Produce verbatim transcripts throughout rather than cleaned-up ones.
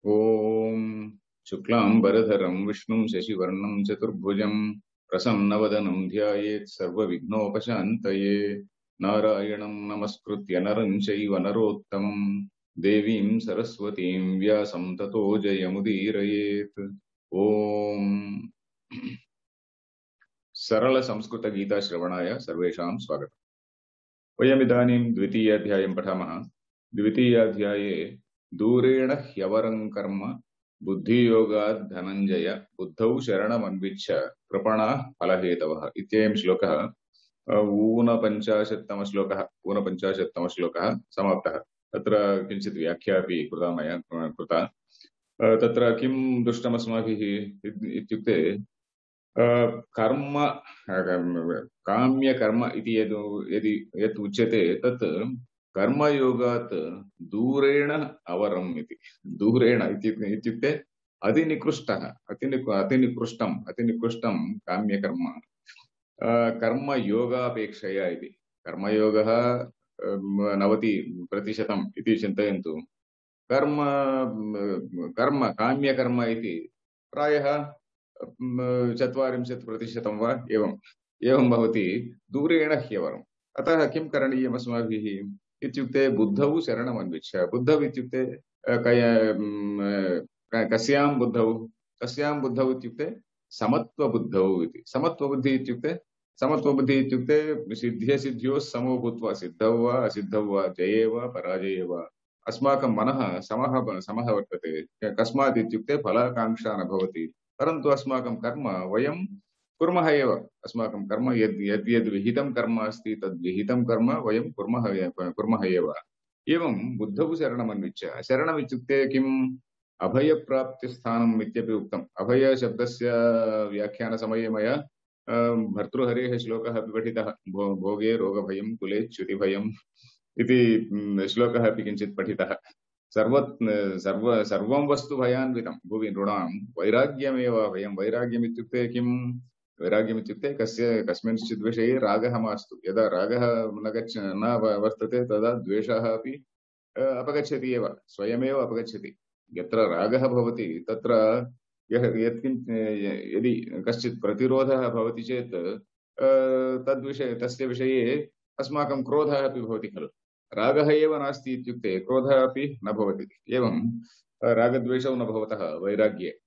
ओम शुक्लांबरधरं विष्णुं शशिवर्णं चतुर्भुजं प्रसन्नवदनं ध्यायेत् सर्वविघ्नोपशान्तये। नारायणं नमस्कृत्य नरं चैव नरोत्तमं देवीं सरस्वतीं व्यासं ततो जयमुदीरयेत्। ओम सरल संस्कृत गीता श्रवणाय सर्वेषां स्वागतम्। वयमिदानीं द्वितीयाध्यायं पठामः। द्वितीयाध्याये दूरेण ह्यवरं कर्म बुद्धियोगात् धनञ्जय बुद्धौ शरणमन्विच्छ कृपणाः फलहेतवः इत्ययं श्लोकः ऊनपञ्चाशत्तमः श्लोकः ऊनपञ्चाशत्तमः श्लोकः समाप्तः। तत्र किञ्चित् व्याख्या अपि कृता मया कृता। तत्र किं दृष्टमस्माभिः इत्युक्ते कर्म काम्य कर्म इति यद् यदि यत् उच्यते तत् कर्मयोगात् दूरेण अवरम् इति। दूरेण इत्युक्ते अतिनिकृष्टः अतिनिकृ अतिनिकृष्टम् अतिनिकृष्टं काम्यकर्म कर्मयोगापेक्षया इति। कर्मयोगः नवति प्रतिशतम् इति चिन्तयन्तु। कर्म कर्म काम्यकर्म इति प्रायः चत्वारिंशत् प्रतिशतं वा एवम् एवं भवति दूरेण ह्यवरम्। अतः किं करणीयम् अस्माभिः इत्युक्ते बुद्धौ शरणमन्विच्छ। बुद्धौ इत्युक्ते कस्यां बुद्धौ कस्यां बुद्धौ इत्युक्ते समत्वबुद्धौ इति। समत्वबुद्धि इत्युक्ते समत्वबुद्धि इत्युक्ते सिद्ध्यसिद्ध्योः समो भूत्वा सिद्धौ वा असिद्धौ वा जये वा पराजये वा अस्माकं मनः समः समः वर्तते। कस्मात् इत्युक्ते फलाकाङ्क्षा न भवति, परन्तु अस्माकं कर्म वयं कुर्मः एव। अस्माकं कर्म यद् यद् यद् विहितं कर्म अस्ति तद् विहितं कर्म वयं कुर्मः कुर्मः एव। एवं बुद्धौ शरणमन्विच्छ। शरणम् इत्युक्ते किम्? अभयप्राप्तिस्थानम् इत्यपि उक्तम्। अभयशब्दस्य व्याख्यानसमये मया भर्तृहरेः श्लोकः अपि पठितः। भोगे रोगभयं कुले च्युतिभयम् इति श्लोकः अपि किञ्चित् पठितः। सर्व सर्व सर्वं वस्तु भयान्वितं भुवि नृणां वैराग्यमेव भयं। वैराग्यम् इत्युक्ते किं? वैराग्यम् इत्युक्ते कस्य कस्मिंश्चित् विषये रागः मास्तु। यदा रागः न गच्छ न वर्तते तदा द्वेषः अपि अपगच्छति एव, स्वयमेव अपगच्छति। यत्र रागः भवति तत्र यः यत्किञ्च यदि कश्चित् प्रतिरोधः भवति चेत् तद्विषये तस्य विषये अस्माकं क्रोधः अपि भवति खलु। रागः एव नास्ति इत्युक्ते क्रोधः अपि न भवति। एवं रागद्वेषौ न भवतः वैराग्ये।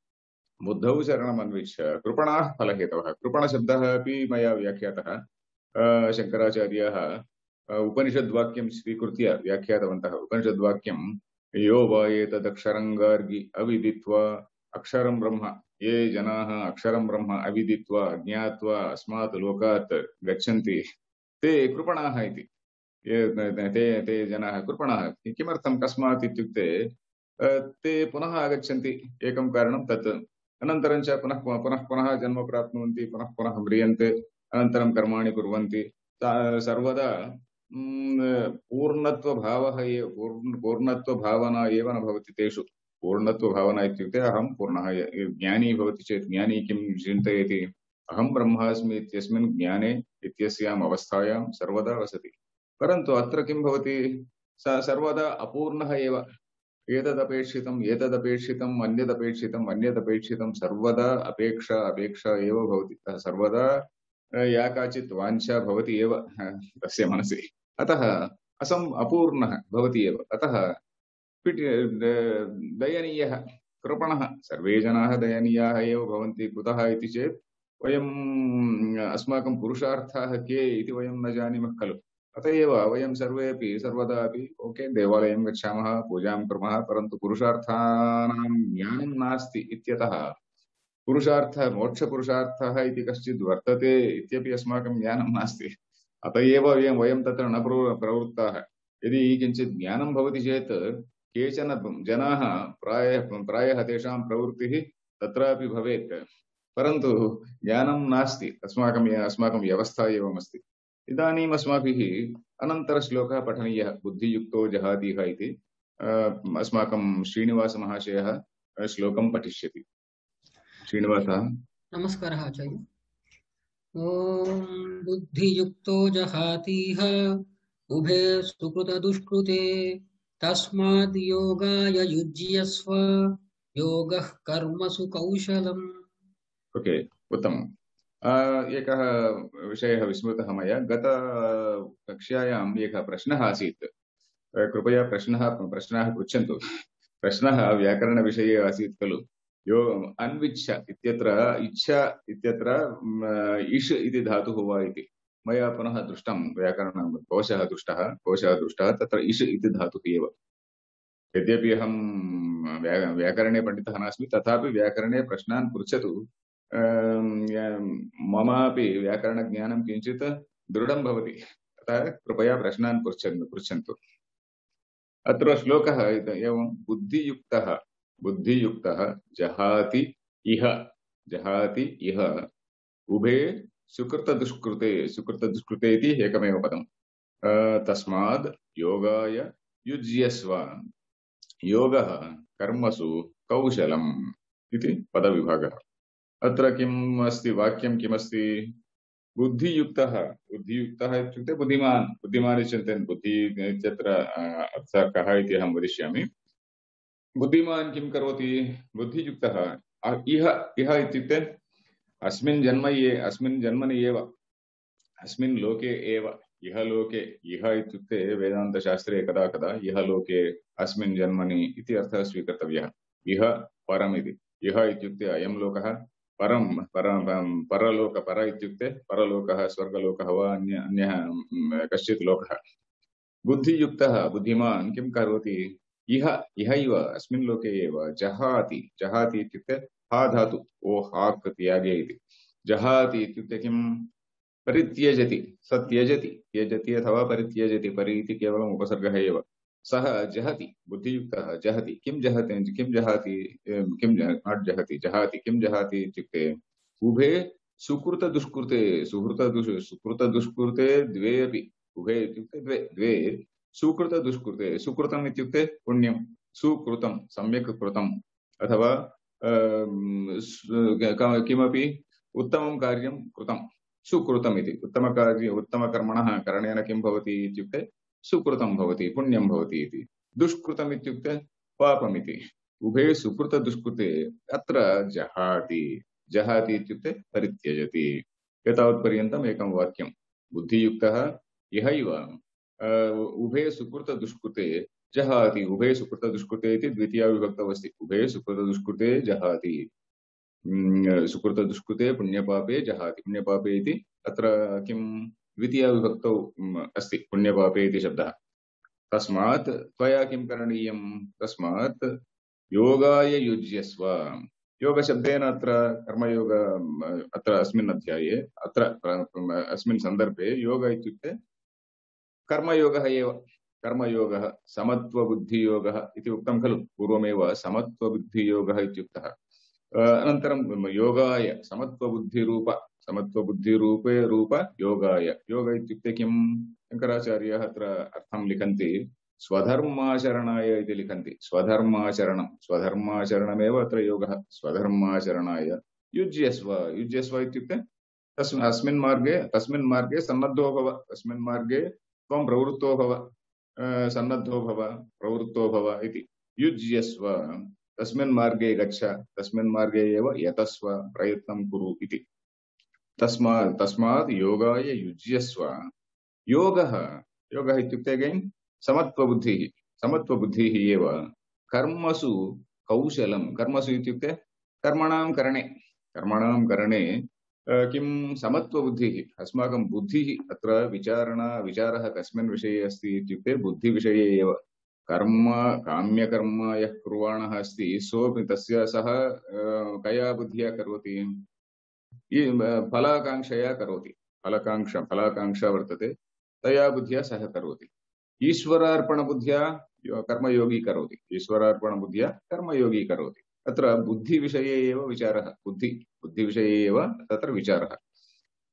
बुद्धौ शरणमन्विच्छ कृपणाः फलहेतवः। कृपणशब्दः अपि मया व्याख्यातः। शङ्कराचार्याः उपनिषद्वाक्यं स्वीकृत्य व्याख्यातवन्तः। उपनिषद्वाक्यं यो वा एतदक्षरं गार्गि अविदित्वा अक्षरं ब्रह्म, ये जनाः अक्षरं ब्रह्म अविदित्वा ज्ञात्वा अस्मात् लोकात् गच्छन्ति ते कृपणाः इति। ते ते जनाः कृपणाः। किमर्थं? कस्मात् इत्युक्ते ते पुनः आगच्छन्ति, एकं कारणं तत्। अनन्तरं च पुनः पुनः पुनः जन्म प्राप्नुवन्ति, पुनः पुनः म्रियन्ते, अनन्तरं कर्माणि कुर्वन्ति। सर्वदा पूर्णत्वभावः एव पूर्णत्वभावना एव न भवति तेषु। पूर्णत्वभावना इत्युक्ते अहं पूर्णः। ज्ञानी भवति चेत् ज्ञानी किं चिन्तयति? अहं ब्रह्मास्मि इत्यस्मिन् ज्ञाने इत्यस्याम् अवस्थायां सर्वदा वसति। परन्तु अत्र किं भवति? स सर्वदा अपूर्णः एव। एतदपेक्षितम् एतदपेक्षितम् अन्यदपेक्षितम् अन्यदपेक्षितं सर्वदा अपेक्षा अपेक्षा एव भवति। सर्वदा या काचित् वाञ्छा भवति एव तस्य मनसि। अतः असम् अपूर्णः भवति एव। अतः दयनीयः कृपणः। सर्वे जनाः दयनीयाः एव भवन्ति। कुतः इति चेत् वयम् अस्माकं पुरुषार्थाः के इति वयं न जानीमः खलु। अतः एव वयं सर्वेपि सर्वदा अपि ओके देवालयं गच्छामः, पूजां कुर्मः, परन्तु पुरुषार्थानां ज्ञानं नास्ति इत्यतः पुरुषार्थः मोक्षपुरुषार्थः इति कश्चित् वर्तते इत्यपि अस्माकं ज्ञानं नास्ति। अतः एव वयं वयं तत्र न प्रवृत्ताः। यदि किञ्चित् ज्ञानं भवति चेत् केचन जनाः प्रायः प्रायः तेषां प्रवृत्तिः तत्रापि भवेत्, परन्तु ज्ञानं नास्ति। अस्माकं अस्माकं व्यवस्था एवमस्ति। इदानीम् अस्माभिः अनन्तरश्लोकः पठनीयः। बुद्धियुक्तो जहातीह इति अस्माकं श्रीनिवासमहाशयः श्लोकं पठिष्यति। श्रीनिवासः। नमस्कारः आचार्य। ॐ बुद्धियुक्तो जहातीह उभे सुकृत दुष्कृते तस्माद् योगाय युज्यस्व योगः कर्मसु कौशलम्। ओके, उत्तमम्। अ, एकः विषयः विस्मृतः मया। गतकक्ष्यायाम् एकः प्रश्नः आसीत्। अ, कृपया प्रश्नः प्रश्नाः पृच्छन्तु। प्रश्नः व्याकरणविषये आसीत् खलु। यो अन्विच्छ इत्यत्र इच्छा इत्यत्र म, इष् इति धातुः वा इति। मया पुनः दृष्टं व्याकरणं कोशः दृष्टः कोशः दृष्टः तत्र इष् इति धातुः एव। यद्यपि अहं व्या व्याकरणे पण्डितः नास्मि तथापि व्याकरणे प्रश्नान् पृच्छतु। अं, या- ममापि व्याकरणज्ञानं किञ्चित् दृढं भवति। अतः कृपया प्रश्नान् पृच्छन्तु पृच्छन्तु। अत्र श्लोकः इत- एवं बुद्धियुक्तः बुद्धियुक्तः जहाति इह जहाति इह उभे सुकृतदुष्कृते सुकृतदुष्कृते इति एकमेव पदम्। अ, तस्माद् योगाय युज्यस्व योगः कर्मसु कौशलम् इति पदविभागः। अत्र किम् अस्ति वाक्यं किमस्ति? बुद्धियुक्तः बुद्धियुक्तः इत्युक्ते बुद्धिमान् बुद्धिमान् इति चिन्तयन् बुद्धि इत्यत्र अ, अर्थः कः इति अहं वदिष्यामि। बुद्धिमान् किं करोति? बुद्धियुक्तः अ- इह इह इत्युक्ते अस्मिन् जन्म ये अस्मिन् जन्मनि एव अस्मिन् लोके एव इह लोके इह इत्युक्ते वेदान्तशास्त्रे कदा कदा इह लोके अस्मिन् जन्मनि इति अर्थः स्वीकर्तव्यः। इह परम् इति। इह इत्युक्ते अयं लोकः, परं परं परलोक पर इत्युक्ते परलोकः स्वर्गलोकः वा अन्य अन्यः म, कश्चित् लोकः। बुद्धियुक्तः बुद्धिमान् किं करोति? इह इहैव अस्मिन् लोके एव जहाति जहाति इत्युक्ते हा धातु ओ हाक् त्यागे इति। जहाति इत्युक्ते किं? परित्यजति स त्यजति त्यजति अथवा परित्यजति परि इति केवलम् उपसर्गः एव। सः जहति बुद्धियुक्तः जहति किं जहति किं जहाति एवं, किं नाट् जहति जहाति किं जहाति इत्युक्ते उभे सुकृतदुष्कृते सुहृतदुष् सुकृतदुष्कृते द्वे अपि उभे इत्युक्ते द्वे द्वे सुकृतदुष्कृते सुकृतम् इत्युक्ते पुण्यं सुकृतं सम्यक् कृतम् अथवा अम्, सु- किमपि उत्तमं कार्यं कृतं सुकृतम् इति। उत्तमकार्य उत्तमकर्मणः करणेन किं भवति इत्युक्ते सुकृतं भवति पुण्यं भवति इति। दुष्कृतम् इत्युक्ते पापमिति। उभे सुकृतदुष्कृते अत्र जहाति जहाति इत्युक्ते परित्यजति। एतावत्पर्यन्तम् एकं वाक्यं। बुद्धियुक्तः इहैव अ, उभे सुकृतदुष्कृते जहाति उभे सुकृतदुष्कृते इति द्वितीया विभक्तौ अस्ति। उभे सुकृतदुष्कृते जहाति हम्म, सुकृतदुष्कृते पुण्यपापे जहाति पुण्यपापे इति अत्र किं द्वितीया विभक्तौ हम्म, अस्ति पुण्यपापे इति शब्दः। तस्मात् त्वया किं करणीयं? तस्मात् योगाय युज्यस्व। योगशब्देन अत्र कर्मयोग अत्र अस्मिन् अध्याये अत्र अस्मिन् सन्दर्भे योग इत्युक्ते कर्मयोगः एव। कर्मयोगः समत्वबुद्धियोगः इति उक्तं खलु पूर्वमेव समत्वबुद्धियोगः इत्युक्तः। अनन्तरं योगाय समत्वबुद्धिरूप समत्वबुद्धिरूपे रूप योगाय योग इत्युक्ते किं? शङ्कराचार्याः अत्र अर्थं लिखन्ति स्वधर्माचरणाय इति लिखन्ति। स्वधर्माचरणं स्वधर्माचरणमेव अत्र योगः। स्वधर्माचरणाय युज्यस्व युज्यस्व इत्युक्ते तस्मिन् अस्मिन् मार्गे तस्मिन् मार्गे सन्नद्धो भव तस्मिन् मार्गे त्वं प्रवृत्तो भव अ, सन्नद्धो भव प्रवृत्तो भव इति। युज्यस्व तस्मिन् मार्गे गच्छ तस्मिन् मार्गे एव यतस्व प्रयत्नं कुरु इति। तस्मात् तस्मात् योगाय युज्यस्व। योगः योगः इत्युक्ते अगेन् समत्वबुद्धिः समत्वबुद्धिः एव कर्मसु कौशलं कर्मसु इत्युक्ते कर्मणां करणे कर्मणां करणे अ, किं समत्वबुद्धिः अस्माकं बुद्धिः अत्र विचारणा विचारः कस्मिन् विषये अस्ति इत्युक्ते बुद्धिविषये एव। कर्म काम्यकर्म यः कुर्वाणः अस्ति सोऽपि तस्य सः अ, कया बुद्ध्या करोति? ये फलाकांक्षया करोति। फलकांक्षा फलाकांक्षा वर्तते तया बुद्ध्या सः करोति। ईश्वरार्पणबुद्ध्या यो- कर्मयोगी करोति। ईश्वरार्पणबुद्ध्या कर्मयोगी करोति। अत्र बुद्धिविषये एव विचारः। बुद्धि बुद्धिविषये एव तत्र विचारः।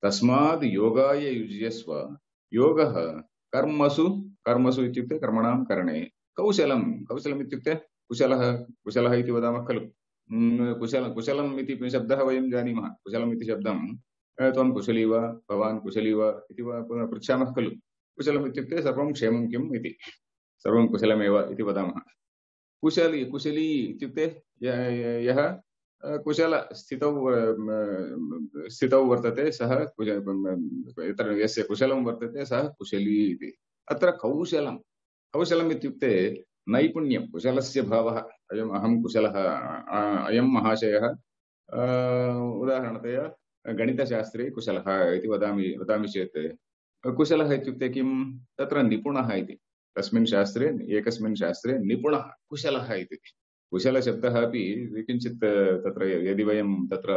तस्माद् योगाय युज्यस्व। योगः कर्मसु कर्मसु इत्युक्ते कर्मणां करणे कौशलं कौशलम् इत्युक्ते कुशलः कुशलः इति वदामः खलु। हम्म, कुशल कुशलम् इति शब्दः वयं जानीमः। कुशलम् इति शब्दं अ, त्वं कुशली वा भवान् कुशली वा इति वा पुनः पृच्छामः खलु। कुशलम् इत्युक्ते सर्वं क्षेमं किम् इति। सर्वं कुशलमेव इति वदामः। कुशली कुशली इत्युक्ते यः कुशल स्थितौ स्थितौ वर्तते सः यत्र यस्य कुशलं वर्तते सः कुशली इति। अत्र कौशलं कौशलम् इत्युक्ते नैपुण्यं, कुशलस्य भावः। अयम् अहं कुशलः, अयं महाशयः उदाहरणतया गणितशास्त्रे कुशलः इति वदामि वदामि चेत् कुशलः इत्युक्ते किं? तत्र निपुणः इति। तस्मिन् शास्त्रे एकस्मिन् शास्त्रे निपुणः कुशलः इति। कुशलशब्दः अपि किञ्चित् तत्र यदि वयं तत्र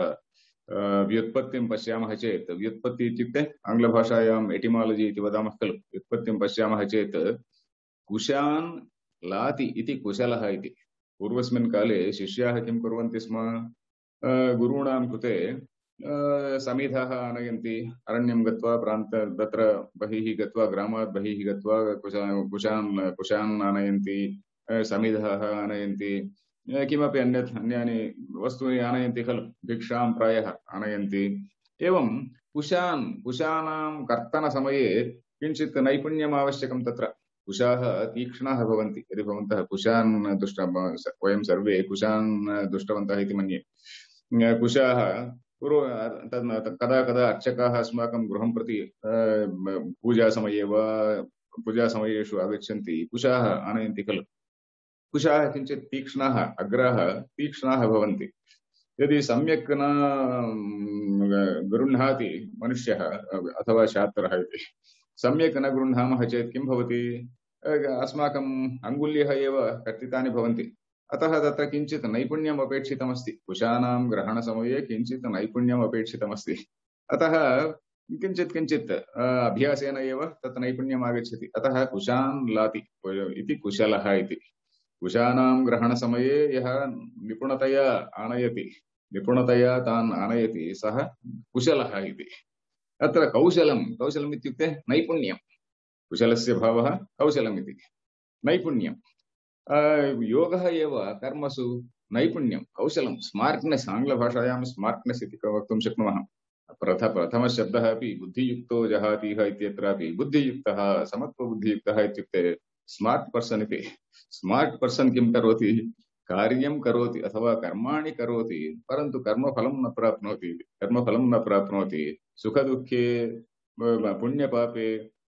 व्युत्पत्तिं पश्यामः चेत्, व्युत्पत्ति इत्युक्ते आङ्ग्लभाषायाम् एटिमालजि इति वदामः खलु। व्युत्पत्तिं पश्यामः चेत् कुशान् लाति इति कुशलः इति। पूर्वस्मिन् काले शिष्याः किं कुर्वन्ति स्म? गुरूणां कृते समिधः आनयन्ति, अरण्यं गत्वा प्रान्त तत्र बहिः गत्वा, ग्रामात् बहिः गत्वा कुशान् कुशान् कुशान् आनयन्ति, समिधः आनयन्ति, किमपि अन्यत् अन्यानि वस्तूनि आनयन्ति खलु, भिक्षां प्रायः आनयन्ति। एवं कुशान् कुशानां कर्तनसमये किञ्चित् नैपुण्यम् आवश्यकं। तत्र कुशाः तीक्ष्णाः भवन्ति। यदि भवन्तः कुशान् दृष्ट वयं सर्वे कुशान् दृष्टवन्तः इति मन्ये। कुशाः पूर्व कदा कदा अर्चकाः अस्माकं गृहं प्रति पूजासमये वा पूजासमयेषु आगच्छन्ति, कुशाः आनयन्ति खलु। कुशाः किञ्चित् तीक्ष्णाः, अग्राः तीक्ष्णाः भवन्ति। यदि सम्यक् न गृह्णाति मनुष्यः अथवा छात्रः इति, सम्यक् न गृह्णामः चेत् किं भवति? अस्माकम् अङ्गुल्यः एव कर्तितानि भवन्ति। अतः तत्र किञ्चित् नैपुण्यम् अपेक्षितमस्ति। कुशानां ग्रहणसमये किञ्चित् नैपुण्यम् अपेक्षितमस्ति। अतः किञ्चित् किञ्चित् अभ्यासेन एव तत् नैपुण्यम् आगच्छति। अतः कुशान् लाति इति कुशलः इति। कुशानां ग्रहणसमये यः निपुणतया आनयति, निपुणतया तान् आनयति, सः कुशलः इति। अत्र कौशलं कौशलम् इत्युक्ते नैपुण्यं। कुशलस्य भावः कौशलम् इति, नैपुण्यं। योगः एव कर्मसु नैपुण्यं, कौशलं, स्मार्ट्नेस्। आङ्ग्लभाषायां स्मार्ट्नेस् इति वक्तुं शक्नुमः। प्रथ प्रथमशब्दः अपि बुद्धियुक्तो जहातीह इत्यत्रापि बुद्धियुक्तः, समत्वबुद्धियुक्तः इत्युक्ते स्मार्ट् पर्सन् इति। स्मार्ट् पर्सन् किं करोति? कार्यं करोति अथवा कर्माणि करोति, परन्तु कर्मफलं न प्राप्नोति। कर्मफलं न प्राप्नोति, सुखदुःखे पुण्यपापे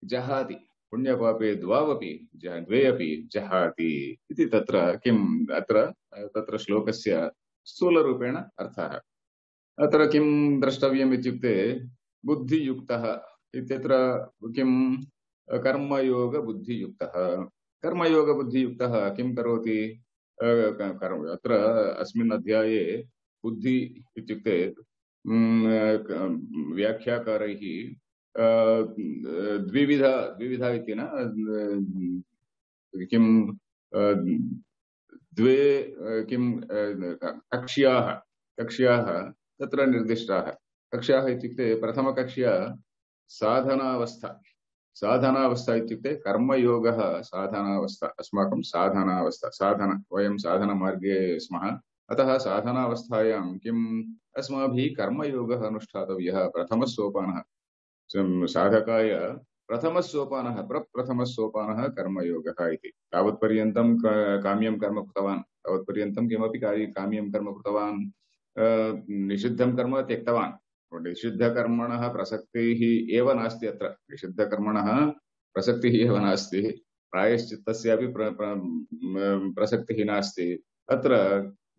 जहाति, पुण्यपापे द्वावपि द्वे अपि जहाति इति तत्र किम् अत्र तत्र श्लोकस्य स्थूलरूपेण अर्थः। अत्र किं द्रष्टव्यम् इत्युक्ते बुद्धियुक्तः इत्यत्र किं कर्मयोगबुद्धियुक्तः। कर्मयोगबुद्धियुक्तः किं करोति? अत्र अस्मिन् अध्याये बुद्धि इत्युक्ते व्याख्याकारैः द्विविध द्विविध इति न, किं द्वे किं कक्ष्याः कक्ष्याः तत्र निर्दिष्टाः। कक्ष्याः इत्युक्ते प्रथमकक्ष्या साधनावस्था। साधनावस्था इत्युक्ते कर्मयोगः साधनावस्था, अस्माकं साधनावस्था, साधन वयं साधनमार्गे स्मः। अतः साधनावस्थायां किम् अस्माभिः कर्मयोगः अनुष्ठातव्यः। प्रथमसोपानः साधकाय प्रथमसोपानः प्रप्रथमसोपानः कर्मयोगः इति। तावत्पर्यन्तं काम्यं कर्म कृतवान्, तावत्पर्यन्तं किमपि कार्य काम्यं कर्म कृतवान्, निषिद्धं कर्म त्यक्तवान्। निषिद्धकर्मणः प्रसक्तिः एव नास्ति। अत्र निषिद्धकर्मणः प्रसक्तिः एव नास्ति, प्रायश्चित्तस्यापि प्र, प्र, प्रसक्तिः नास्ति। अत्र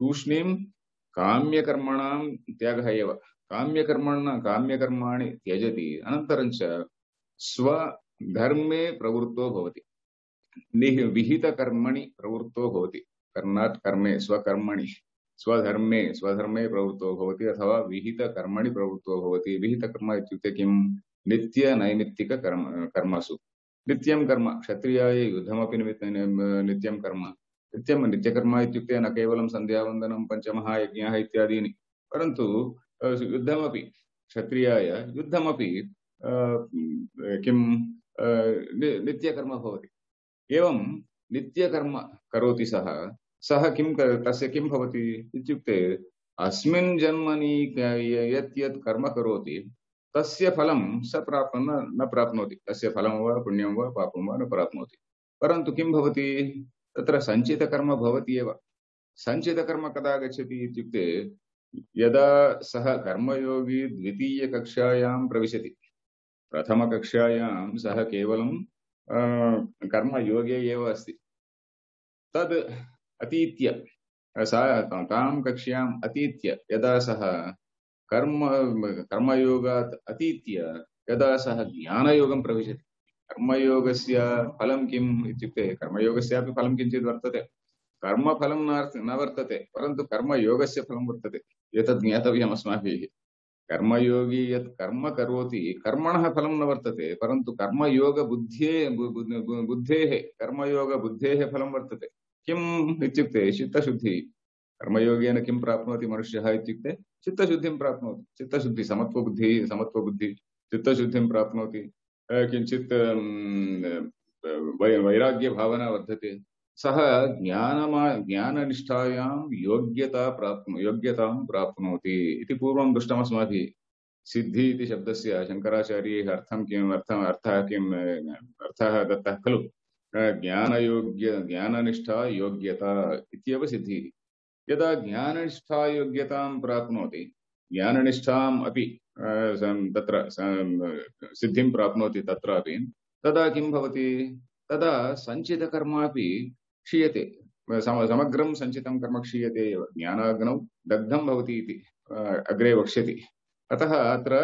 तूष्णीं काम्यकर्मणां त्यागः एव। काम्यकर्मण काम्यकर्माणि त्यजति, अनन्तरं च स्वधर्मे प्रवृत्तो भवति, विहितकर्मणि प्रवृत्तो भवति। कर्णात् कर्मे स्वकर्मणि स्वधर्मे स्वधर्मे प्रवृत्तो भवति अथवा विहितकर्मणि प्रवृत्तो भवति। विहितकर्म इत्युक्ते किं? नित्यनैमित्तिककर्म कर्मसु नित्यं कर्म। क्षत्रियाय युद्धमपि नित्यं कर्म। नित्यं नित्यकर्म इत्युक्ते न केवलं सन्ध्यावन्दनं पञ्चमहायज्ञाः इत्यादीनि, परन्तु युद्धमपि क्षत्रियाय युद्धमपि किं नित्यकर्म भवति। एवं नित्यकर्म करोति सः सः किं तस्य किं भवति इत्युक्ते अस्मिन् जन्मनि यत् यत् कर्म करोति तस्य फलं स प्राप् न प्राप्नोति। तस्य फलं वा पुण्यं वा पापं वा न प्राप्नोति। परन्तु किं भवति? तत्र सञ्चितकर्म भवति एव। सञ्चितकर्म कदा गच्छति इत्युक्ते यदा सः कर्मयोगी द्वितीयकक्षायां प्रविशति। प्रथमकक्षायां सः केवलं कर्मयोगे एव अस्ति। तद् अतीत्य सा तां कक्ष्याम् अतीत्य यदा सः कर्म कर्मयोगात् अतीत्य यदा सः ज्ञानयोगं प्रविशति। कर्मयोगस्य फलं किम् इत्युक्ते कर्मयोगस्यापि फलं किञ्चित् वर्तते। कर्मफलं न वर्तते, परन्तु कर्मयोगस्य फलं वर्तते। एतद् ज्ञातव्यम् अस्माभिः। कर्मयोगी यत् कर्म करोति कर्मणः फलं न वर्तते, परन्तु कर्मयोगबुद्धेः बुद्धेः कर्मयोगबुद्धेः फलं वर्तते। किम् इत्युक्ते चित्तशुद्धिः। कर्मयोगेन किं प्राप्नोति मनुष्यः इत्युक्ते चित्तशुद्धिं प्राप्नोति। चित्तशुद्धि समत्वबुद्धिः समत्वबुद्धिः चित्तशुद्धिं प्राप्नोति। किञ्चित् वैराग्यभावना वर्धते। सः ज्ञानमा ज्ञाननिष्ठायां योग्यता प्राप्नु योग्यतां प्राप्नोति इति पूर्वं दृष्टमस्माभिः। सिद्धि इति शब्दस्य शङ्कराचार्यैः अर्थं किम् अर्थम् अर्थः किम् अर्थः दत्तः खलु। ज्ञानयोग्य ज्ञाननिष्ठा योग्यता इत्येव सिद्धिः। यदा ज्ञाननिष्ठा योग्यतां प्राप्नोति, ज्ञाननिष्ठाम् अपि तत्र सिद्धिं प्राप्नोति तत्रापि, तदा किं भवति? तदा सञ्चितकर्मापि क्षीयते। समग्रं सञ्चितं कर्म क्षीयते एव। ज्ञानाग्नौ दग्धं भवति इति अग्रे वक्ष्यति। अतः अत्र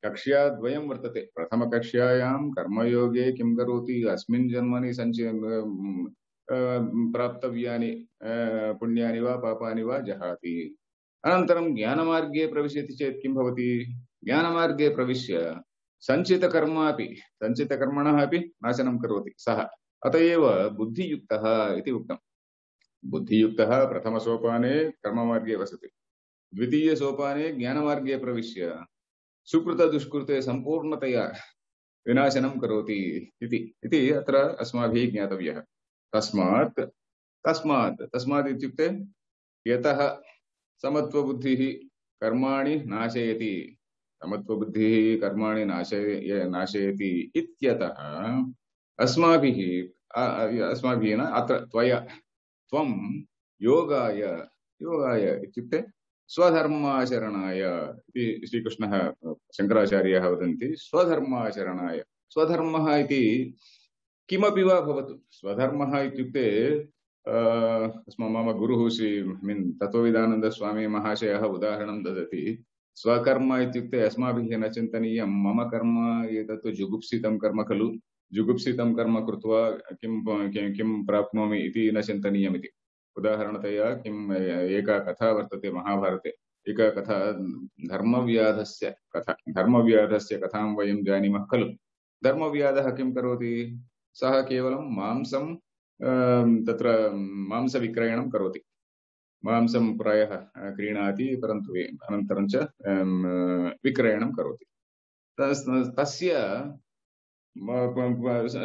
कक्ष्याद्वयं वर्तते। प्रथमकक्ष्यायां कर्मयोगे किं करोति, अस्मिन् जन्मनि सञ्चि प्राप्तव्यानि पुण्यानि वा पापानि वा जहाति। अनन्तरं ज्ञानमार्गे प्रविशति चेत् किं भवति? ज्ञानमार्गे प्रविश्य सञ्चितकर्मापि सञ्चितकर्मणः अपि नाशनं करोति सः। अत एव बुद्धियुक्तः इति उक्तम्। बुद्धियुक्तः प्रथमसोपाने कर्ममार्गे वसति, द्वितीयसोपाने ज्ञानमार्गे प्रविश्य सुकृतदुष्कृते सम्पूर्णतया विनाशनं करोति इति इति अत्र अस्माभिः ज्ञातव्यः। तस्मात् तस्मात् तस्मात् इत्युक्ते यतः समत्वबुद्धिः कर्माणि नाशयति समत्वबुद्धिः कर्माणि नाशय नाशयति इत्यतः अस्माभिः अस्माभिः न अत्र त्वया त्वं योगाय योगाय इत्युक्ते स्वधर्माचरणाय इति श्रीकृष्णः शङ्कराचार्याः वदन्ति। स्वधर्माचरणाय स्वधर्मः इति किमपि वा भवतु। स्वधर्मः इत्युक्ते अस्मा मम गुरुः श्री मीन् तत्त्वविदानन्दस्वामी महाशयः उदाहरणं ददति। स्वकर्म इत्युक्ते अस्माभिः न चिन्तनीयं मम कर्म एतत् जुगुप्सितं कर्म खलु, जुगुप्सितं कर्म कृत्वा किं किं प्राप्नोमि इति न चिन्तनीयमिति। उदाहरणतया किम् एका कथा वर्तते महाभारते। एका कथा धर्मव्याधस्य कथा। धर्मव्याधस्य कथां वयं जानीमः खलु। धर्मव्याधः किं करोति? सः केवलं मांसं तत्र मांसविक्रयणं करोति। मांसं प्रायः क्रीणाति, परन्तु अनन्तरं च विक्रयणं करोति। तस्य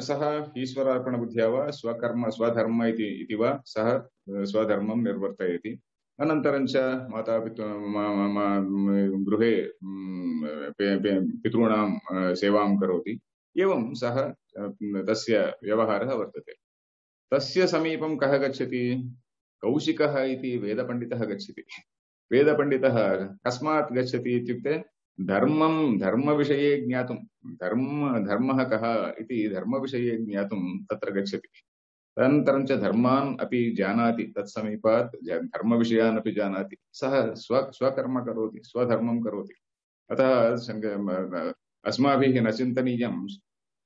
सः ईश्वरार्पणबुद्ध्या वा स्वकर्म स्वधर्म इति इति वा सः स्वधर्मं निर्वर्तयति। अनन्तरं च मातापितृ गृहे पितॄणां सेवां करोति। एवं सः तस्य व्यवहारः वर्तते। तस्य समीपं कः गच्छति? कौशिकः इति वेदपण्डितः गच्छति। वेदपण्डितः कस्मात् गच्छति इत्युक्ते धर्मं धर्मविषये ज्ञातुं, धर्म धर्मः कः इति धर्मविषये ज्ञातुं तत्र गच्छति। तदनन्तरं च धर्मान् अपि जानाति, तत्समीपात् धर्मविषयान् अपि जानाति। सः स्व स्वकर्म करोति, स्वधर्मं करोति। अतः अस्माभिः न चिन्तनीयं।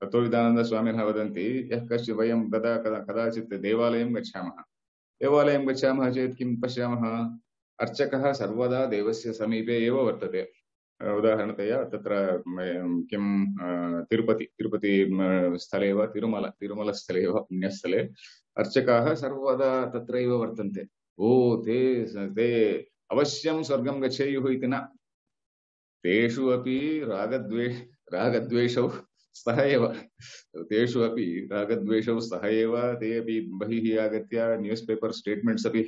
तत्त्वविदानन्दस्वामिनः वदन्ति, यः कश्चित् वयं कदा कदा कदाचित् देवालयं गच्छामः। देवालयं गच्छामः चेत् किं पश्यामः? अर्चकः सर्वदा देवस्य समीपे एव वर्तते। उदाहरणतया तत्र किं तिरुपति तिरुपति स्थले वा तिरुमल तिरुमलस्थले वा पुण्यस्थले अर्चकाः सर्वदा तत्रैव वर्तन्ते। ओ ते ते अवश्यं स्वर्गं गच्छेयुः इति न। तेषु अपि रागद्वेष रागद्वेषौ स्तः एव। तेषु अपि रागद्वेषौ स्तः एव। ते अपि बहिः आगत्य न्यूस् पेपर् स्टेट्मेण्ट्स् अपि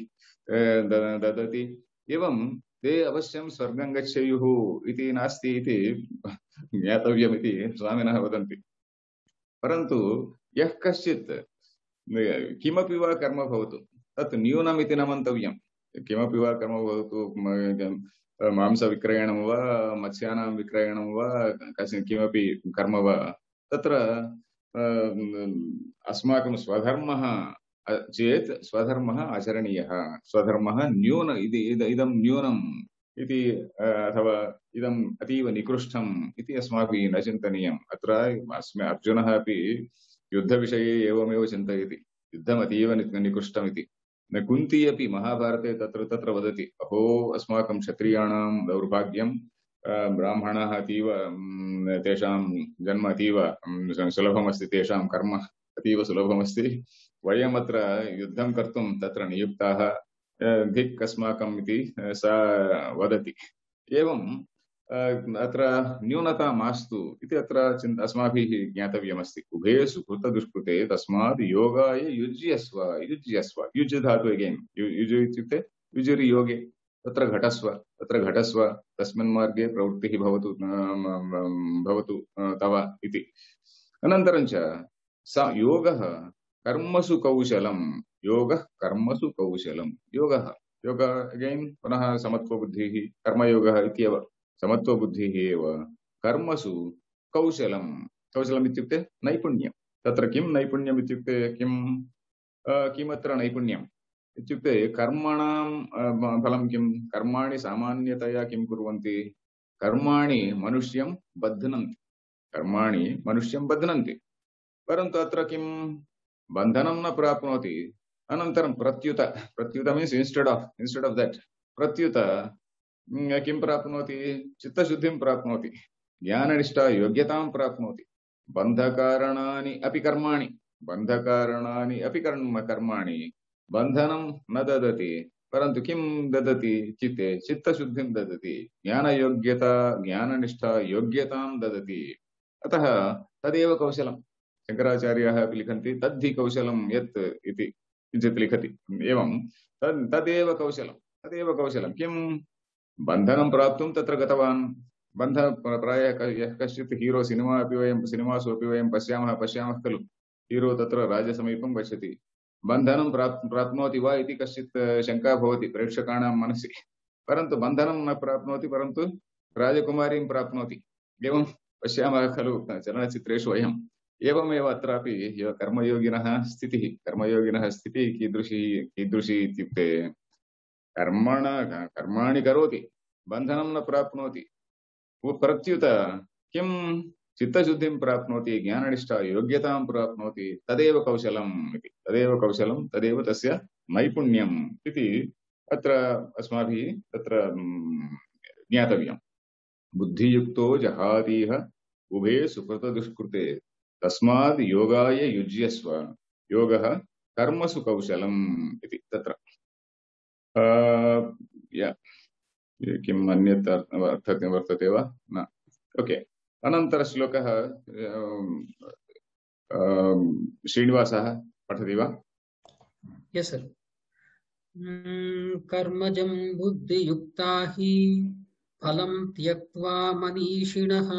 ददति। एवं ते अवश्यं स्वर्गं गच्छेयुः इति नास्ति इति ज्ञातव्यमिति स्वामिनः वदन्ति। परन्तु यः कश्चित् किमपि वा कर्म भवतु तत् न्यूनमिति न मन्तव्यं। किमपि वा कर्म भवतु, मांसविक्रयणं वा मत्स्यानां विक्रयणं वा कस्य किमपि कर्म वा तत्र अस्माकं स्वधर्मः चेत् स्वधर्मः आचरणीयः, स्वधर्मः न्यून इति इदं न्यूनम् इति अथवा इदम् अतीव निकृष्टम् इति अस्माभिः न चिन्तनीयम्। अत्र अस्मै अर्जुनः अपि युद्धविषये एवमेव चिन्तयति, युद्धम् अतीव निकृष्टमिति। कुन्ती अपि महाभारते तत्र तत्र वदति, अहो अस्माकं क्षत्रियाणां दौर्भाग्यं, ब्राह्मणाः अतीव तेषां जन्म अतीव सुलभमस्ति, तेषां कर्म अतीव सुलभमस्ति, वयमत्र युद्धं कर्तुं तत्र नियुक्ताः, धिक् अस्माकम् इति सा वदति। एवं अत्र न्यूनता मास्तु इति अत्र अस्माभिः ज्ञातव्यमस्ति। उभे सुकृतदुष्कृते तस्मात् योगाय युज्यस्व। युज्यस्व युज् धातु अगेन्, युज् इत्युक्ते युजुरि योगे, तत्र घटस्व, तत्र घटस्व, तस्मिन् मार्गे प्रवृत्तिः भवतु भवतु तव इति। अनन्तरं च स योगः कर्मसु कौशलं, योगः कर्मसु कौशलं, योगः योग अगेन् पुनः समत्वबुद्धिः, कर्मयोगः इत्येव समत्वबुद्धिः एव, कर्मसु कौशलं, कौशलम् इत्युक्ते नैपुण्यं। तत्र किं नैपुण्यम् इत्युक्ते किं, किमत्र नैपुण्यम् इत्युक्ते कर्मणां फलं किं, कर्माणि सामान्यतया किं कुर्वन्ति, कर्माणि मनुष्यं बध्नन्ति, कर्माणि मनुष्यं बध्नन्ति, परन्तु अत्र किं बन्धनं न प्राप्नोति। अनन्तरं प्रत्युत, प्रत्युत means instead of instead of that प्रत्युत किं प्राप्नोति, चित्तशुद्धिं प्राप्नोति, ज्ञाननिष्ठा योग्यतां प्राप्नोति। बन्धकारणानि अपि कर्माणि, बन्धकारणानि अपि कर्म कर्माणि बन्धनं न ददति, परन्तु किं ददति, चित्ते चित्तशुद्धिं ददति, ज्ञानयोग्यता ज्ञाननिष्ठा योग्यतां ददति। अतः तदेव कौशलं। शङ्कराचार्याः अपि लिखन्ति तद्धि कौशलं यत् इति किञ्चित् लिखति। एवं तद् तदेव कौशलं, तदेव कौशलं। किं बन्धनं प्राप्तुं तत्र गतवान्, बन्ध प्रायः यः कश्चित् हीरो, सिनेमा अपि वयं सिनेमासु अपि वयं पश्यामः पश्यामः खलु, हीरो तत्र राजसमीपं गच्छति, बन्धनं प्राप् प्राप्नोति वा इति कश्चित् शङ्का भवति प्रेक्षकाणां मनसि, परन्तु बन्धनं न प्राप्नोति, परन्तु राजकुमारीं प्राप्नोति। एवं पश्यामः खलु चलनचित्रेषु वयम्। एवमेव अत्रापि कर्मयोगिनः स्थितिः, कर्मयोगिनः स्थितिः कीदृशी कीदृशी इत्युक्ते कर्मण कर्माणि करोति, बन्धनं न प्राप्नोति, प्रत्युत किं चित्तशुद्धिं प्राप्नोति, ज्ञाननिष्ठा योग्यतां प्राप्नोति, तदेव कौशलम् इति, तदेव कौशलं, तदेव तस्य नैपुण्यम् इति अत्र अस्माभिः तत्र ज्ञातव्यम्। बुद्धियुक्तो जहातीह उभे सुकृतदुष्कृते तस्माद् योगाय युज्यस्व, योगः कर्मसु कौशलम् इति तत्र किम् अन्यत् अर्थः वर्तते वा न। ओके, अनन्तरश्लोकः श्रीनिवासः पठति वा? यस् सर्। कर्मजं बुद्धियुक्ता हि फलं त्यक्त्वा मनीषिणः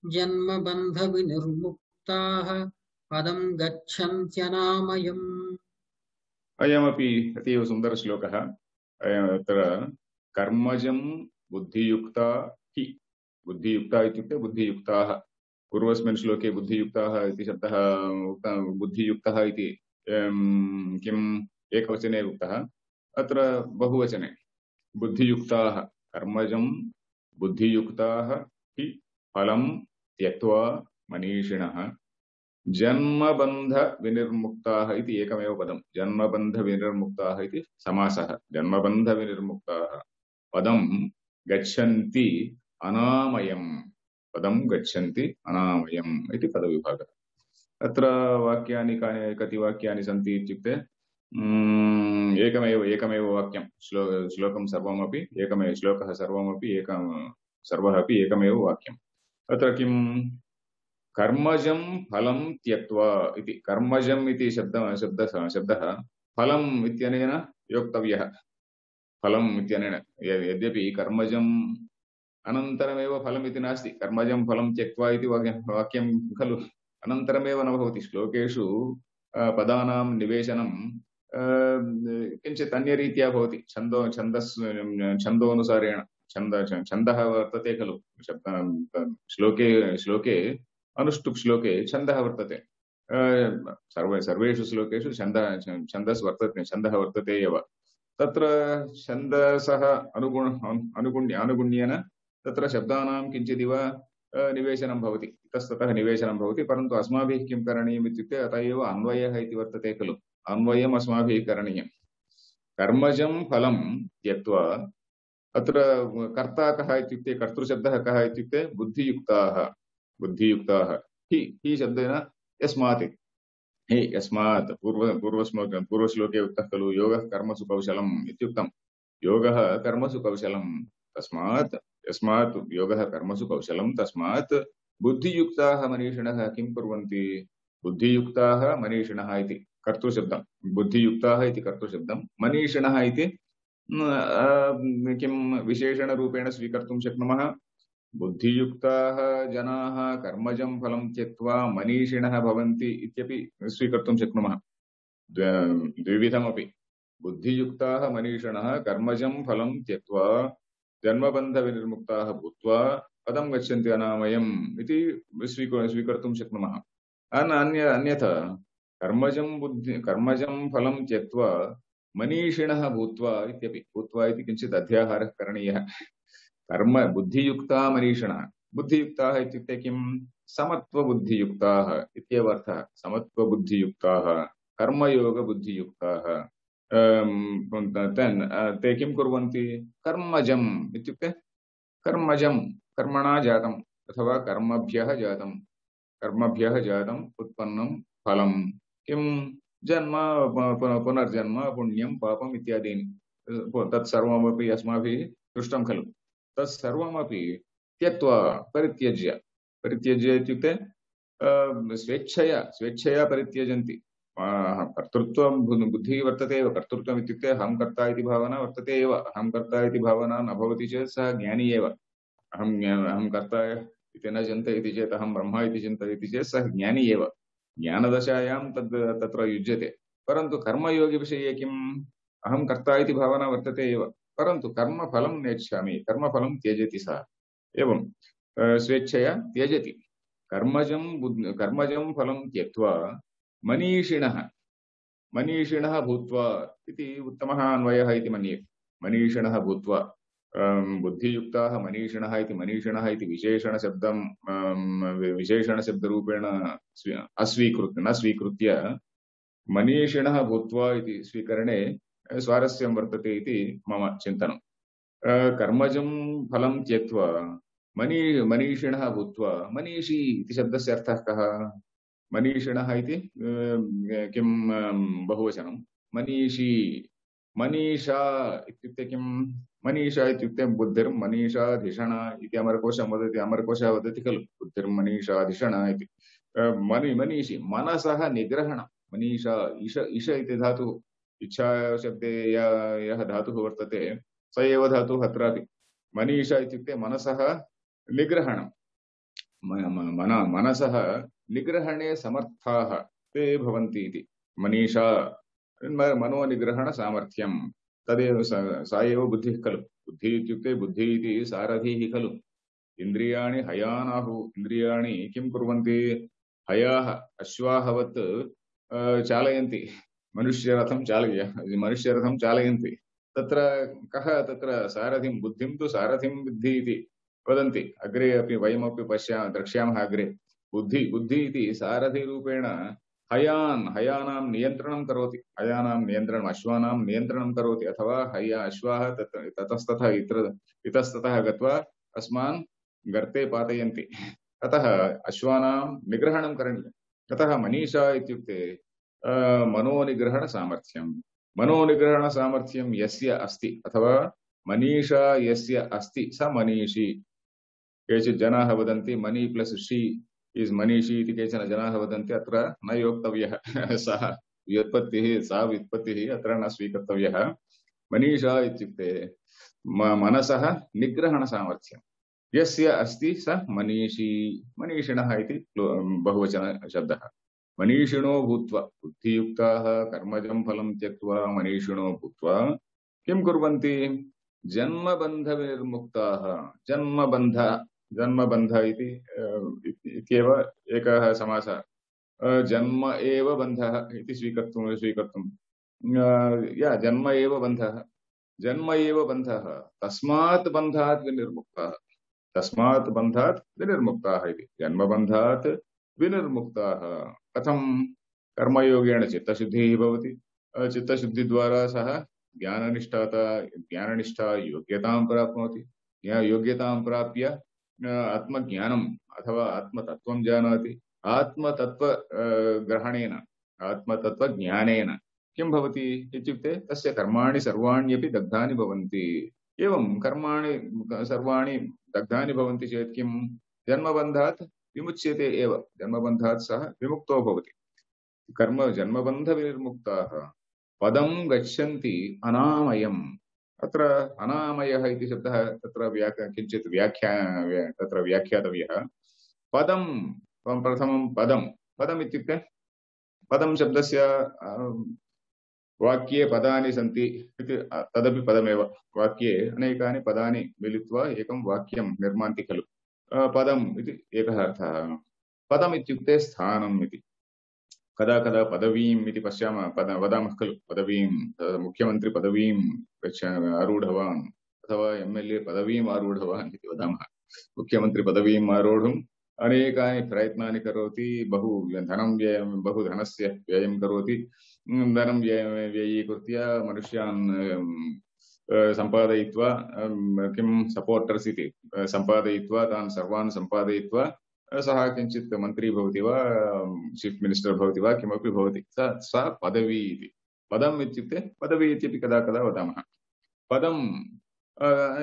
जन्मबन्धविनिर्मुक्ताः पदं गच्छन्त्यनामयम्। अयमपि अतीव सुन्दरश्लोकः। अत्र कर्मजं बुद्धियुक्ता हि, बुद्धियुक्ता इत्युक्ते बुद्धियुक्ताः, पूर्वस्मिन् श्लोके बुद्धियुक्ताः इति शब्दः उक्तः, बुद्धियुक्तः इति किम् एकवचने उक्तः, अत्र बहुवचने बुद्धियुक्ताः, कर्मजं बुद्धियुक्ताः हि फलं त्यक्त्वा मनीषिणः जन्मबन्ध विनिर्मुक्ताः इति एकमेव पदं, जन्मबन्ध विनिर्मुक्ताः इति समासः, जन्मबन्ध विनिर्मुक्ताः पदं गच्छन्ति अनामयम्, पदं गच्छन्ति अनामयम् इति पदविभागः। अत्र वाक्यानि कानि कति वाक्यानि सन्ति इत्युक्ते एकमेव एकमेव वाक्यं, श्लो श्लोकं सर्वमपि एकमेव, श्लोकः सर्वमपि एकं, सर्वः अपि एकमेव वाक्यम्। अत्र किं कर्मजं फलं त्यक्त्वा इति, कर्मजम् इति शब्दः शब्दः शब्दः फलम् इत्यनेन योक्तव्यः, फलम् इत्यनेन, यद्यपि कर्मजम् अनन्तरमेव फलम् इति नास्ति, कर्मजं फलं त्यक्त्वा इति वाक्यं खलु, अनन्तरमेव न भवति। श्लोकेषु पदानां निवेशनं किञ्चित् अन्यरीत्या भवति छन्दो छन्दस् छन्दोनुसारेण छन्द छन्दः वर्तते खलु श्लोके श्लोके अनुष्टुप् श्लोके छन्दः वर्तते सर्वे सर्वेषु श्लोकेषु छन्दः छन्दस् वर्तते छन्दः वर्तते एव तत्र छन्दसः अनुगुण अनुगुण्य अनुगुण्येन तत्र शब्दानां किञ्चिदिव निवेशनं भवति इतस्ततः निवेशनं भवति परन्तु अस्माभिः किं करणीयम् इत्युक्ते अतः एव अन्वयः इति वर्तते खलु अन्वयम् अस्माभिः करणीयं कर्मजं फलं त्यक्त्वा अत्र कर्ता कः इत्युक्ते कर्तृशब्दः कः इत्युक्ते बुद्धियुक्ताः बुद्धियुक्ताः हि हि शब्देन यस्मात् हे यस्मात् पूर्व पूर्वश्लोके पूर्वश्लोके उक्तः खलु योगः कर्मसु कौशलम् इत्युक्तं योगः कर्मसु कौशलं तस्मात् यस्मात् योगः कर्मसु कौशलं तस्मात् बुद्धियुक्ताः मनीषिणः किं कुर्वन्ति बुद्धियुक्ताः मनीषिणः इति कर्तृशब्दं बुद्धियुक्ताः इति कर्तृशब्दं मनीषिणः इति किं विशेषणरूपेण स्वीकर्तुं शक्नुमः बुद्धियुक्ताः जनाः कर्मजं फलं त्यक्त्वा मनीषिणः भवन्ति इत्यपि स्वीकर्तुं शक्नुमः द्विविधमपि बुद्धियुक्ताः मनीषिणः कर्मजं फलं त्यक्त्वा जन्मबन्धविनिर्मुक्ताः भूत्वा पदं गच्छन्ति अनामयम् इति स्वीकर्तुं शक्नुमः अन्य अन्यथा कर्मजं बुद्धि कर्मजं फलं त्यक्त्वा मनीषिणः भूत्वा इत्यपि भूत्वा इति किञ्चित् अध्याहारः करणीयः कर्म बुद्धियुक्ता मनीषिणः बुद्धियुक्ताः इत्युक्ते किं समत्वबुद्धियुक्ताः इत्येव अर्थः समत्वबुद्धियुक्ताः कर्मयोगबुद्धियुक्ताः ते किं कुर्वन्ति कर्मजम् इत्युक्ते कर्मजं कर्मणा जातम् अथवा कर्मभ्यः जातं कर्मभ्यः जातम् उत्पन्नं फलं किं जन्म पुनर्जन्म पुण्यं पापम् इत्यादीनि तत्सर्वमपि अस्माभिः दृष्टं खलु तत्सर्वमपि त्यक्त्वा परित्यज्य परित्यज्य इत्युक्ते स्वेच्छया स्वेच्छया परित्यजन्ति कर्तृत्वं बुद्धिः वर्तते एव कर्तृत्वम् इत्युक्ते अहं कर्ता इति भावना वर्तते एव अहं कर्ता इति भावना न भवति चेत् सः ज्ञानी एव अहं अहं कर्ता इति न चिन्तयति चेत् अहं ब्रह्म इति चिन्तयति चेत् सः ज्ञानी एव ज्ञानदशायां तद् तत्र युज्यते परन्तु कर्मयोगिविषये किम् अहं कर्ता इति भावना वर्तते एव परन्तु कर्मफलं नेच्छामि कर्मफलं त्यजति सः एवं स्वेच्छया त्यजति कर्मजं कर्मजं फलं त्यक्त्वा मनीषिणः मनीषिणः भूत्वा इति उत्तमः अन्वयः इति मन्ये मनीषिणः भूत्वा बुद्धियुक्ताः मनीषिणः इति मनीषिणः इति विशेषणशब्दं विशेषणशब्दरूपेण अस्वीकृत्य न स्वीकृत्य मनीषिणः भूत्वा इति स्वीकरणे स्वारस्यं वर्तते इति मम चिन्तनं कर्मजं फलं त्यक्त्वा मनी मनीषिणः भूत्वा मनीषी इति शब्दस्य अर्थः कः मनीषिणः इति किं बहुवचनं मनीषी मनीषा इत्युक्ते किं मनीषा इत्युक्ते बुद्धिर्मनीषाधिषण इति अमरकोशं वदति अमरकोशः वदति खलु बुद्धिर्मनीषाधिषण इति मनी मनीषी मनसः निग्रहण मनीषा ईश ईश इति धातुः इच्छा शब्दे यः धातुः वर्तते स एव धातुः अत्रापि मनीषा इत्युक्ते मनसः निग्रहणं मन मनसः निग्रहणे समर्थाः ते भवन्ति इति मनीषा मनोनिग्रहणसामर्थ्यं तदेव सा एव बुद्धिः खलु बुद्धिः इत्युक्ते बुद्धिः इति सारथिः खलु इन्द्रियाणि हयानाहुः इन्द्रियाणि किं कुर्वन्ति हयाः अश्वाहवत् चालयन्ति मनुष्यरथं चालय मनुष्यरथं चालयन्ति तत्र कः तत्र सारथिं बुद्धिं तु सारथिं बुद्धिः इति वदन्ति अग्रे अपि वयमपि पश्यामः द्रक्ष्यामः अग्रे बुद्धि बुद्धि इति सारथिरूपेण हयान् हयानां नियन्त्रणं करोति हयानां नियन्त्रणम् अश्वानां नियन्त्रणं करोति अथवा हया अश्वाः तत् ततस्ततः इतर इतस्ततः गत्वा अस्मान् गर्ते पातयन्ति अतः अश्वानां निग्रहणं करणीयम् अतः मनीषा इत्युक्ते मनोनिग्रहणसामर्थ्यं मनोनिग्रहणसामर्थ्यं यस्य अस्ति अथवा मनीषा यस्य अस्ति स मनीषी केचित् जनाः वदन्ति मनी प्लस् शी इस् मनीषी इति केचन जनाः वदन्ति अत्र न योक्तव्यः सः व्युत्पत्तिः सा व्युत्पत्तिः अत्र न स्वीकर्तव्यः मनीषा इत्युक्ते मनसः निग्रहणसामर्थ्यं यस्य अस्ति स मनीषी मनीषिणः इति बहुवचनशब्दः मनीषिणो भूत्वा बुद्धियुक्ताः कर्मजं फलं त्यक्त्वा मनीषिणो भूत्वा किं कुर्वन्ति जन्मबन्धविनिर्मुक्ताः जन्मबन्ध जन्मबन्ध इति इत्येव एकः समासः जन्म एव बन्धः इति स्वीकर्तुं स्वीकर्तुं या जन्म एव बन्धः जन्म एव बन्धः तस्मात् बन्धात् विनिर्मुक्ताः तस्मात् बन्धात् विनिर्मुक्ताः इति जन्मबन्धात् विनिर्मुक्ताः कथं कर्मयोगेन चित्तशुद्धिः भवति चित्तशुद्धिद्वारा सः ज्ञाननिष्ठाता ज्ञाननिष्ठा योग्यतां प्राप्नोति योग्यतां प्राप्य आत्मज्ञानम् अथवा आत्मतत्त्वं जानाति आत्मतत्त्व ग्रहणेन आत्मतत्त्वज्ञानेन किं भवति इत्युक्ते तस्य कर्माणि सर्वाण्यपि दग्धानि भवन्ति एवं कर्माणि सर्वाणि दग्धानि भवन्ति चेत् किं जन्मबन्धात् विमुच्यते एव जन्मबन्धात् सः विमुक्तो भवति कर्म जन्मबन्धविनिर्मुक्ताः पदं गच्छन्ति अनामयम् अत्र अनामयः इति शब्दः तत्र व्याख्या किञ्चित् व्याख्या तत्र व्याख्यातव्यः पदं प्रथमं पदं पदम् इत्युक्ते पदं शब्दस्य वाक्ये पदानि सन्ति इति तदपि पदमेव वाक्ये अनेकानि पदानि मिलित्वा एकं वाक्यं निर्मान्ति खलु पदम् इति एकः अर्थः पदम् इत्युक्ते स्थानम् इति कदा कदा पदवीम् इति पश्यामः पद वदामः खलु पदवीं मुख्यमन्त्री पदवीं गच्छ आरूढवान् अथवा एम् एल् ए पदवीम् आरूढवान् इति वदामः मुख्यमन्त्री पदवीम् आरोढुम् अनेकानि प्रयत्नानि करोति बहु धनं व्ययं बहु धनस्य व्ययं करोति धनं व्ययीकृत्य मनुष्यान् सम्पादयित्वा किं सपोर्टर्स् इति सम्पादयित्वा तान् सर्वान् सम्पादयित्वा सः किञ्चित् मन्त्री भवति वा चीफ् मिनिस्टर् भवति वा किमपि भवति सा सा पदवी इति पदम् इत्युक्ते पदवी इत्यपि कदा कदा वदामः पदम्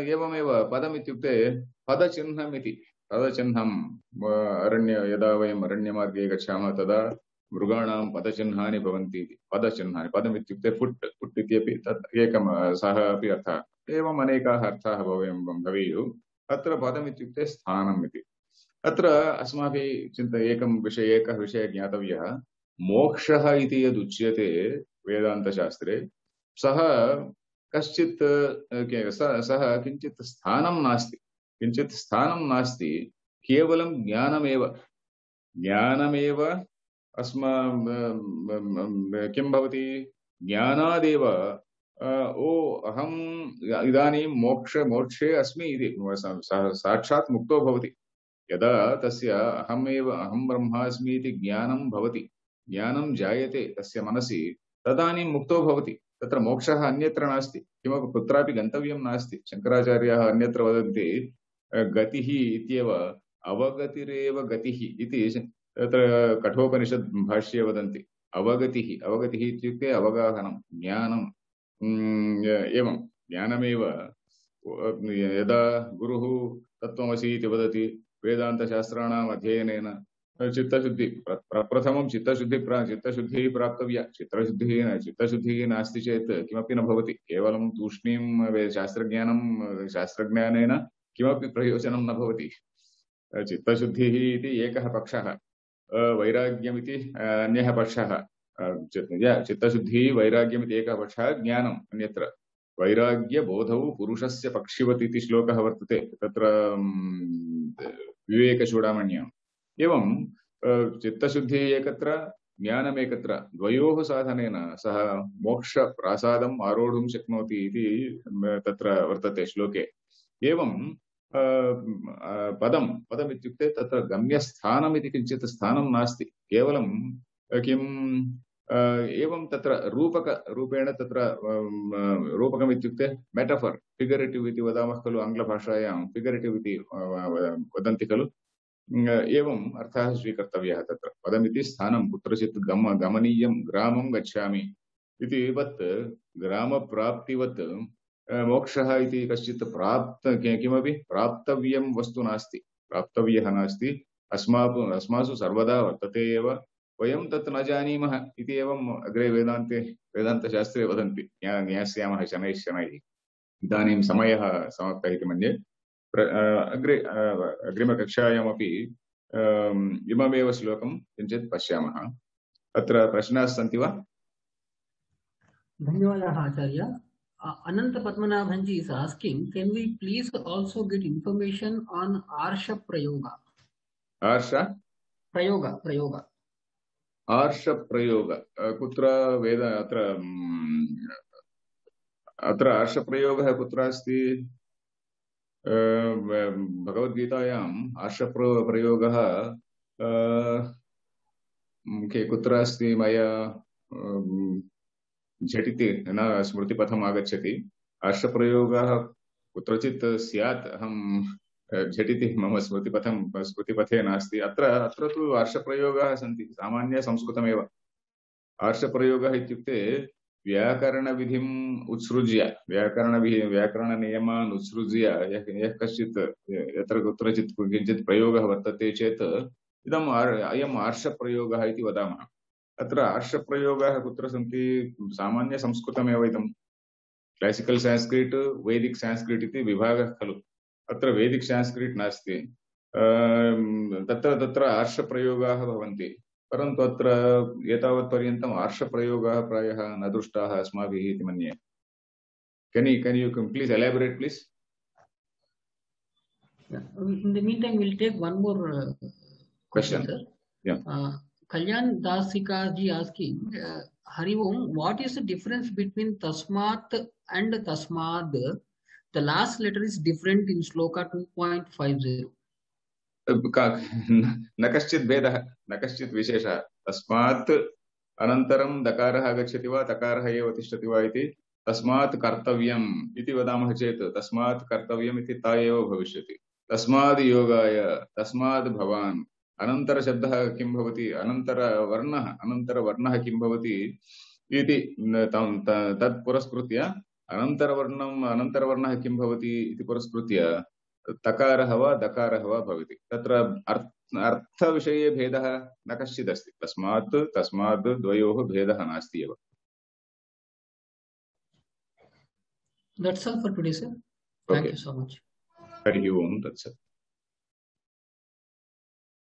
एवमेव पदम् इत्युक्ते पदचिह्नम् इति पदचिह्नम् अरण्य यदा वयम् अरण्यमार्गे गच्छामः तदा मृगाणां पदचिह्नानि भवन्ति इति पदचिह्नानि पदम् इत्युक्ते फुट् फुट् इत्यपि तत् एकं सः अपि अर्थः एवम् अनेकाः अर्थाः भवेयुः भवेयुः अत्र पदम् इत्युक्ते स्थानम् इति अत्र अस्माभिः चिन्त एकं विषय एकः विषयः ज्ञातव्यः मोक्षः इति यदुच्यते वेदान्तशास्त्रे सः कश्चित् सः किञ्चित् स्थानं नास्ति किञ्चित् स्थानं नास्ति केवलं ज्ञानमेव ज्ञानमेव अस्मा किं भवति ज्ञानादेव ओ अहम् इदानीं मोक्ष मोक्षे अस्मि इति साक्षात् मुक्तो भवति यदा तस्य अहमेव अहं ब्रह्मास्मि इति ज्ञानं भवति ज्ञानं जायते तस्य मनसि तदानीं मुक्तो भवति तत्र मोक्षः अन्यत्र नास्ति किमपि कुत्रापि गन्तव्यं नास्ति शङ्कराचार्याः अन्यत्र वदन्ति गतिः इत्येव अवगतिरेव गतिः इति तत्र कठोपनिषद् भाष्ये वदन्ति अवगतिः अवगतिः इत्युक्ते अवगाहनं ज्ञानम् एवं ज्ञानमेव यदा गुरुः तत्त्वमसि इति वदति वेदान्तशास्त्राणाम् अध्ययनेन चित्तशुद्धि प्रप्रथमं चित्तशुद्धि चित्तशुद्धिः प्राप्तव्या चित्तशुद्धिः चित्तशुद्धिः नास्ति चेत् किमपि न भवति केवलं तूष्णीं शास्त्रज्ञानं शास्त्रज्ञानेन किमपि प्रयोजनं न भवति चित्तशुद्धिः इति एकः पक्षः वैराग्यमिति अन्यः पक्षः चित्तशुद्धिः वैराग्यमिति एकः पक्षः ज्ञानम् अन्यत्र वैराग्यबोधौ पुरुषस्य पक्षिवत् इति श्लोकः वर्तते तत्र विवेकचूडामण्याम् एवं चित्तशुद्धिः एकत्र ज्ञानमेकत्र द्वयोः साधनेन सः मोक्षप्रासादम् आरोढुं शक्नोति इति तत्र वर्तते श्लोके एवं पदं पदम् इत्युक्ते तत्र गम्यस्थानम् इति किञ्चित् स्थानं नास्ति केवलं किम् एवं तत्र रूपक रूपेण तत्र रूपकम् इत्युक्ते मेटाफर् फिगरेटिव् इति वदामः खलु आङ्ग्लभाषायां फिगरेटिव् इति वदन्ति खलु एवम् अर्थः स्वीकर्तव्यः तत्र पदमिति स्थानं कुत्रचित् गम गमनीयं ग्रामं गच्छामि इति वत् ग्रामप्राप्तिवत् मोक्षः इति कश्चित् प्राप्त किमपि प्राप्तव्यं वस्तु नास्ति प्राप्तव्यः नास्ति अस्माकम् अस्मासु सर्वदा वर्तते एव वयं तत् न जानीमः इति एवम् अग्रे वेदान्ते वेदान्तशास्त्रे वदन्ति ज्ञास्यामः शनैः शनैः इदानीं समयः समाप्तः इति मन्ये अग्रे अग्रिमकक्षायामपि इममेव श्लोकं किञ्चित् पश्यामः अत्र प्रश्नाः सन्ति वा? धन्यवादाः आचार्य. Uh, Ananta Padmanabhanji is asking, can we please also get information on Arsha Prayoga? Arsha? Prayoga, Prayoga. Arsha Prayoga. Kutra Veda atra atra Arsha Prayoga kutra asti? भगवद्गीतायाम् आर्षप्रयोगः के कुत्र अस्ति मया झटिति न स्मृतिपथम् आगच्छति. आर्षप्रयोगः कुत्रचित् स्यात्, अहं झटिति मम स्मृतिपथं स्मृतिपथे नास्ति. अत्र अत्र तु आर्षप्रयोगाः सन्ति, सामान्य संस्कृतमेव. आर्षप्रयोगः इत्युक्ते व्याकरणविधिम् उत्सृज्य, व्याकरणविधि व्याकरणनियमान् उत्सृज्य यः कश्चित् यत्र कुत्रचित् किञ्चित् प्रयोगः वर्तते चेत् इदम् अयम् आर्षप्रयोगः इति वदामः. अत्र आर्षप्रयोगाः कुत्र सन्ति? सामान्यसंस्कृतमेव इदम्. क्लासिकल् संस्कृत, वैदिक् संस्कृत इति विभागः खलु. अत्र वैदिक् संस्कृत नास्ति. तत्र तत्र आर्षप्रयोगाः भवन्ति. परन्तु अत्र एतावत् पर्यन्तम् आर्षप्रयोगाः प्रायः न दृष्टाः अस्माभिः इति मन्ये. Can you can you please elaborate, please? Yeah. In the meantime, we'll take one more uh, question, question, sir. Yeah. Uh, Kalyan Dasika ji asking, uh, Hari Om, what is the difference between Tasmat and Tasmad? The last letter is different in Shloka two point five zero. न कश्चित् भेदः, न कश्चित् विशेषः. तस्मात् अनन्तरं दकारः आगच्छति वा तकारः एव तिष्ठति वा इति. तस्मात् कर्तव्यम् इति वदामः चेत् तस्मात् कर्तव्यम् इति ता एव भविष्यति. तस्माद् योगाय, तस्माद् भवान्. अनन्तरशब्दः किं भवति? अनन्तरवर्णः, अनन्तरवर्णः किं भवति इति तत् पुरस्कृत्य अनन्तरवर्णम् अनन्तरवर्णः किं भवति इति पुरस्कृत्य तकारः वा दकारः वा भवति. तत्र अर्थविषये भेदः न कश्चित् अस्ति. तस्मात् तस्माद् द्वयोः भेदः नास्ति एव. That's all for today, sir. Thank okay. you so much. हरिः ओम् तत्सत्.